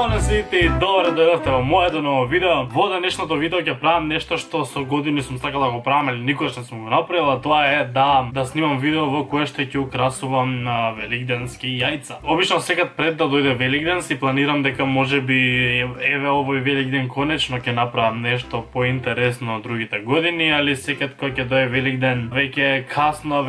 Здрава на сите и добре дојдовте во моето ново видео. Во денешното видео ќе правам нешто што со години сум сакал да го правам, или никогаш не сум го направил, а тоа е да снимам видео во кое што ќе украсувам на великденски јајца. Обично секад пред да дојде Великден си планирам дека можеби еве овој Великден конечно ќе направам нешто поинтересно од другите години, али секад кога ќе дојде Великден веќе касно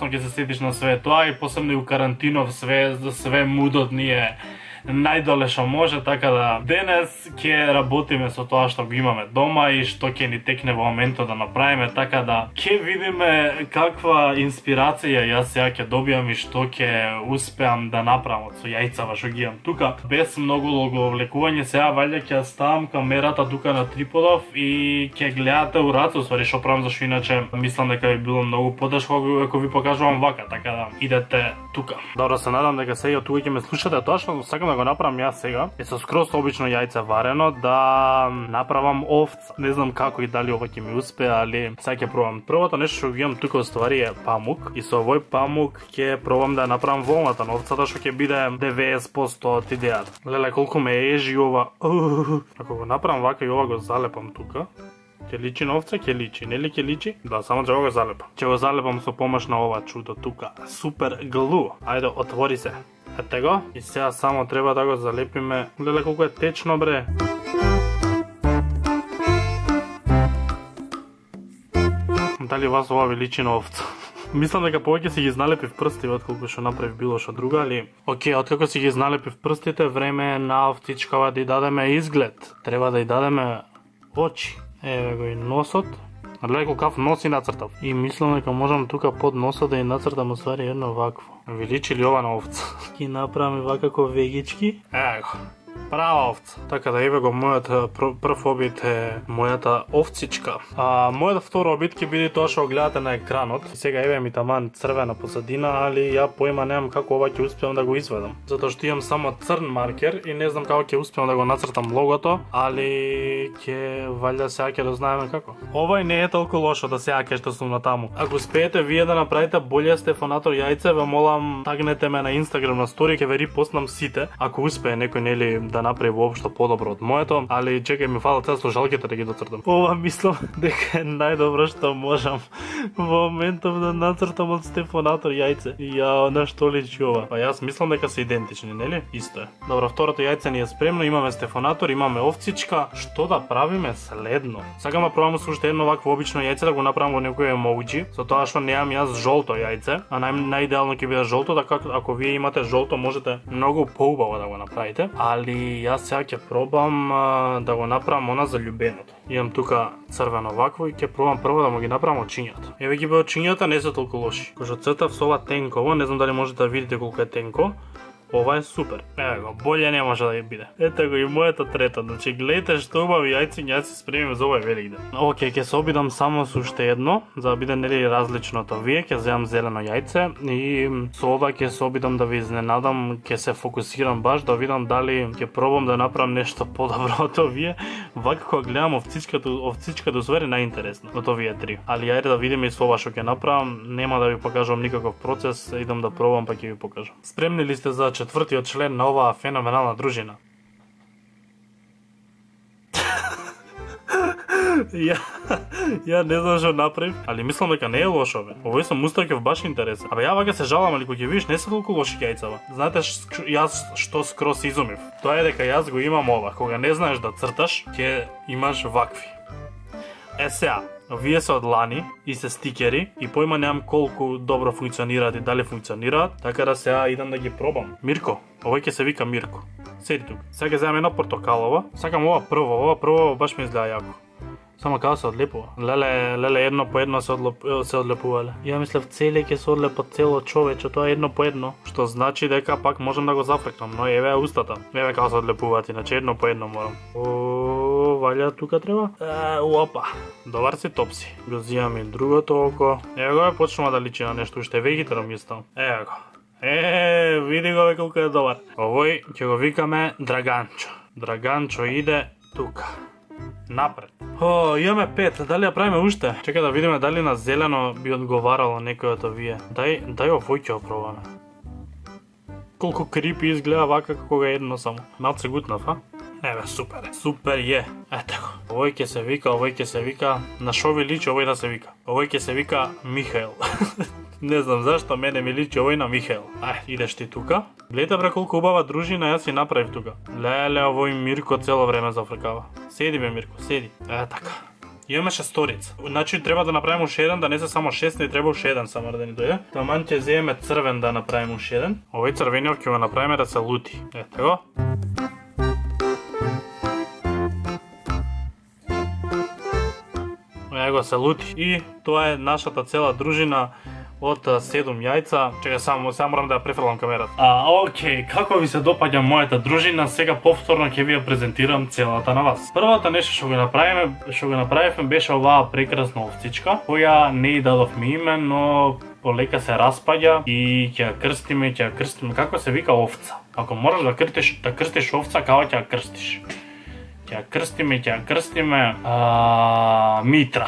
ќе се сетиш на све тоа и посебно и у карантинов све мудот ни е најдоле што може, така да денес ќе работиме со тоа што го имаме дома и што ќе ни текне во моментот да направиме, така да ќе видиме каква инспирација јас сега ќе добијам и што ќе успеам да направам од со јајцава што ги имам тука. Без многу логовлекување, сега ваljda ќе ставам камерата тука на триподов и ќе гледате у раце, усвари што правам, зашто иначе мислам дека би било многу потешко ако ви покажувам вака, така да идете тука. Добро, се надам дека сега тука ќе ме слушате. Тоа што сакам да го направам јас сега е со скроз обично јајце варено да направам овца. Не знам како и дали ова ќе ми успее, али сега ќе пробам. Првото нешто што ги имам тука уствари е памук и со овој памук ќе пробам да направам волната на овцата што ќе биде 90% од идејата. Леле колку ме ежи ова. Ако го направам вака и ова го залепам тука, ќе личи на овца, ќе личи, нели ќе личи? Да, само ќе го залепам. Ќе го залепам со помош на ова чудо тука. Супер глу. Ајде, отвори се. Ете го. И сега само треба да го залепиме. Леле колку е течно, бре. Дали вас ова ви личи на овца? Мислам дека повеќе си ги зналепив прстите отколку што направив било што друго, али окей, откако си ги зналепив прстите, време е на овцичкава да ја дадеме изглед. Треба да ја дадеме очи. Еве го и носот. Гледај колкав нос и нацртав. И мислам дека можам тука под носот да ја нацртам уствари едно вакво. Ви личи ли ова на овца? Ги направам вакако вегички. Ево. Права овца. Така да еве го мојот прв обид е мојата овцичка. Мојот втор обид ќе биде тоа што го гледате на екранот. Сега еве ми таман црвена посадина, али ја поима немам како ова ќе успеам да го изведам. Затоа што имам само црн маркер и не знам како ќе успеам да го нацртам логото, али ќе валјда сега ќе дознаеме како. Овој не е толку лошо да сега ќе што сум на таму. Ако успеете вие да направите боле Стефанатор јајце, ве молам тагнете ме на Инстаграм на стори, ќе ве репостнам сите. Ако успее некој нели да направи воопшто подобро од моето, али чекај ми фала цел слушалките да ги доцртам. Ова мислам дека е најдобро што можам во моментов да нацртам од Стефанатор јајце. Ја, на што личи ова? Па јас мислам дека се идентични, нели? Исто е. Добро, второто јајце ни е спремно, имаме Стефанатор, имаме овцичка. Што да правиме следно? Сакам да пробам со уште едно вакво обично јајце да го направам во некој емоџи, со тоа што немам јас жолто јајце, а најидеално ќе биде жолто, така ако вие имате жолто можете многу поубаво да го направите, али јас сега ќе пробам да го направам она за љубеното. Имам тука црвено вакво и ќе пробам прво да му ги направам очињата. Еве ги бе очињата, не се толку лоши. Кога цртав со ова тенково, не знам дали можете да видите колку е тенко. Ова е супер. Еве го, боле не може да ја биде. Ете го и моето трето. Значи гледате што убави јајциња си спремим за овој Великден. Океј, ќе се обидам само со уште едно, за да биде нели различно од овие. Ќе земам зелено јајце и со ова ќе се обидам да ви изненадам, ќе се фокусирам баш да видам дали ќе пробам да направам нешто подобро од овие. Вака кога гледам овцичката уствари најинтересно од овие три. Али ајде да видиме и со ова што ќе направам. Нема да ви покажувам никаков процес, идам да пробам па ќе ви покажам. Спремни ли сте за четвртиот член на оваа феноменална дружина? Ја не знам што направив, али мислам дека не е лошо, бе. Овој сум устакев баш интересен. Абе ја вака се жалам, али кога ќе видиш не се толку лоши јајцава. Знаете јас што скрос изумив? Тоа е дека јас го имам ова. Кога не знаеш да црташ, ќе имаш вакви. Е сега, овие се од лани и се стикери и поима немам колку добро функционираат и дали функционираат, така да сега идам да ги пробам. Мирко, овој ќе се вика Мирко. Седи тука. Сега ќе земам едно портокалово. Сакам ова прво баш ми изгледа јако. Само како се одлепува. Леле, едно по едно се одлепувале. Ја мислев целе ќе се одлепат цело човече, тоа едно по едно, што значи дека пак можам да го зафркнам, но еве устата. Еве како се одлепуваат, иначе едно по едно морам. Валја тука треба. Опа. Добар си, топ си. Го зијам и другото око. Еве го почнува да личи на нешто, уште вегетаром ми стал. Еве го. Види го колку е добар. Овој ќе го викаме Драганчо. Драганчо иде тука. Напред. Имаме 5, дали ја правиме уште? Чекај да видиме дали на зелено би одговарало некој од овие. Дај овој ќе опробаме. колку крипи изгледа вака како го едно само. Малце гутнав, а? Еве, супер е. Супер е. Ето го. Овој ќе се вика, на шо ви личи овој да се вика? Овој ќе се вика Михаел. Не знам зашто мене ми личи овој на Михаел. Идеш ти тука. Гледате бре колку убава дружина јас си направив тука. Леле, овој Мирко цело време зафркава. Седи бе Мирко, седи. Така. Имаме шесторица. Значи треба да направиме уште еден, да не се само 6, не треба уште еден само да ни дојде. Таман ќе земеме црвен да направиме уште еден. Овој црвениот ќе го направиме да се лути. Ето го. Его се лути. И тоа е нашата цела дружина од 7 јајца. Чекај само морам да ја префрлам камерата. Океј, како ви се допаѓа мојата дружина? Сега повторно ќе ви ја презентирам целата на вас. Првото нешто што го направивме беше оваа прекрасна овцичка, која не и дадовме име, но полека се распаѓа и ќе ја крстиме, како се вика овца. Ако можеш да крстиш овца, како ќе ја крстиш? Ќе ја крстиме Митра.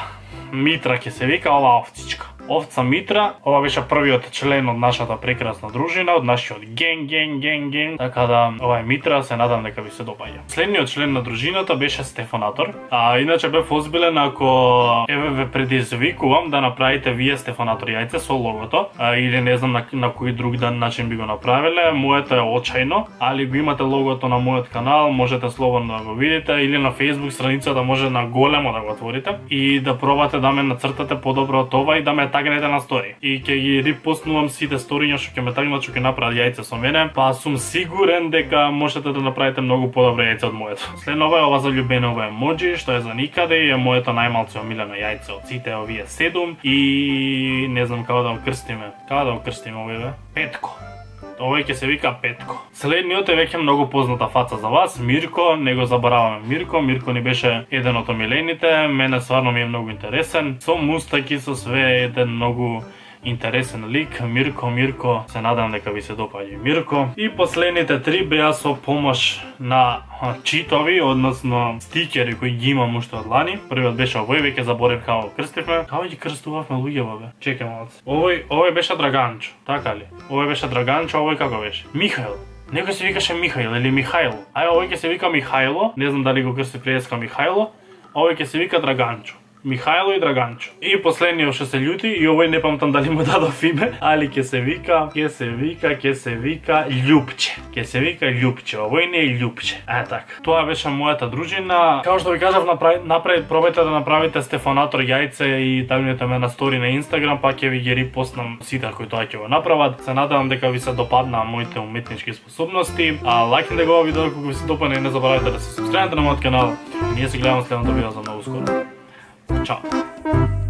Митра ќе се вика оваа овцичка. Овца Митра, ова беше првиот член од нашата прекрасна дружина, од нашиот генг. Така да, ова е Митра, се надам дека ви се допаѓа. Следниот член на дружината беше Стефанатор. Иначе бев озбилен ако ве предизвикувам да направите вие Стефанатор јајце со логото, или не знам на кој друг начин би го направиле. Моето е очајно, али го имате логото на мојот канал, можете слободно да го видите, или на Facebook страницата може на големо да го отворите и да пробате да ме нацртате подобро од ова и да ме тагнете на стори. И ќе ги репостнувам сите сториња што ќе ме тагнат, што ќе направат јајце со мене, па сум сигурен дека можете да направите многу подобро јајце од моето. Следно ова заљубено емоџи, што е за никаде и е моето најмалце омилено јајце од сите овие 7 и не знам како да го крстиме. Како да го крстиме овие? Петко. Овој ќе се вика Петко. Следниот е веќе многу позната фаца за вас, Мирко, не го забораваме Мирко. Мирко ни беше еден од омилените, мене стварно ми е многу интересен. Со мустаки, со све, еден многу интересен лик. Мирко, се надам дека ви се допаѓа Мирко. И последните 3 беа со помош на читови, односно стикери кои ги имам уште од лани. Првиот беше овој, веќе заборев како крстивме. Како ги крстувавме луѓето бе? Чекај малце. Овој беше Драганчо, така ли? Овој беше Драганчо, овој како беше? Михаел. Некој се викаше Михаил или Михајло. Овој ќе се вика Михајло, не знам дали го крсти преска Михајло. Овој ќе се вика Драганчо. Михајло и Драганчо. И последниот што се љути, и овој не памтам дали му дадов име, али ќе се вика Љупче. Ќе се вика Љупче. Овој не е Љупче. Така. Тоа беше мојата дружина. Како што ви кажав, пробајте да направите Стефанатор јајце и тагнете ме на стори на Инстаграм, па ќе ви ги репостнам сите кои тоа ќе го направат. Се надевам дека ви се допадна моите уметнички способности. Лајкнете го видео ако ви се допадне и не заборавајте да се субскрабите на мојот канал. Ние се гледаме следното видео за многу скоро. Ciao.